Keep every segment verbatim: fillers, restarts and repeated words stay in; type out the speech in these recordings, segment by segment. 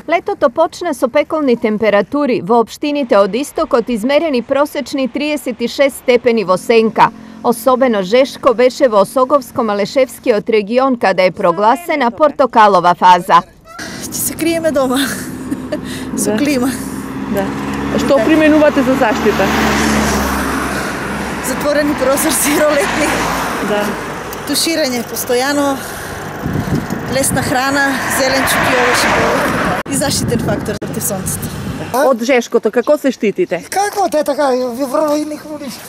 Летото почна со пеколни температури. Во општините од истокот измерени просечни триесет и шест степени во сенка. Особено жешко беше во Осоговско-Малешевскиот регион, каде е прогласена портокалова фаза. Ќе се криеме дома со Да. клима. Да. Што применувате за заштита? Затворени прозорци, ролетни, Да. туширање постојано, лесна храна, зеленчук и овошје и заштитен фактор против сонцето. Од жешкото како се штитите? Како те така, ви врво и никому ништо.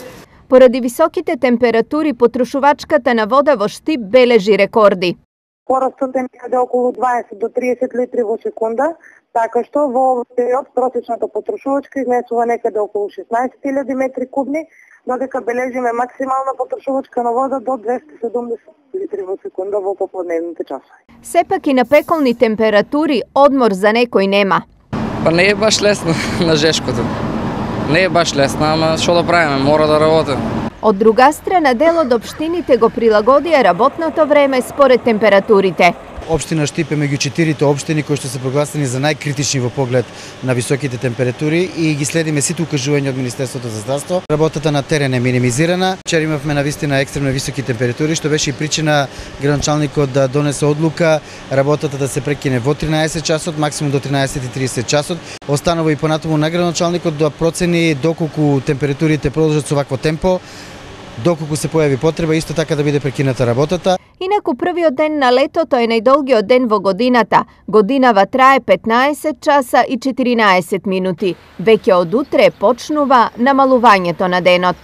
Поради високите температури, потрошувачката на вода во Штип бележи рекорди. Порастот е некаде околу дваесет до триесет литри во секунда, така што во овој период просечната потрошувачка изнесува некаде околу шеснаесет илјади метри кубни, додека бележиме максимална потрошувачка на вода до двесте и седумдесет литри во секунда во поподневните часови. Сепак и на пеколни температури одмор за некој нема. Па не е баш лесно на жешкото. Не е баш лесно, ама што да правиме, мора да работиме. Од друга страна, дел од општините го прилагодија работното време според температурите. Општина Штип е меѓу четирите општини кои што се прогласени за најкритични во поглед на високите температури и ги следиме сите укажувања од Министерството за здравство. Работата на терен е минимизирана. Вчера имавме навистина екстремно високи температури, што беше и причина градоначалникот да донесе одлука работата да се прекине во тринаесет часот, максимум до тринаесет и тридесет часот. Останува и понатаму на градоначалникот да процени доколку температурите продолжат со вакво темпо, доколку се појави потреба, исто така да биде прекината работата. Инаку првиот ден на летото е најдолгиот ден во годината. Годинава трае петнаесет часа и четиринаесет минути. Веќе од утре почнува намалувањето на денот.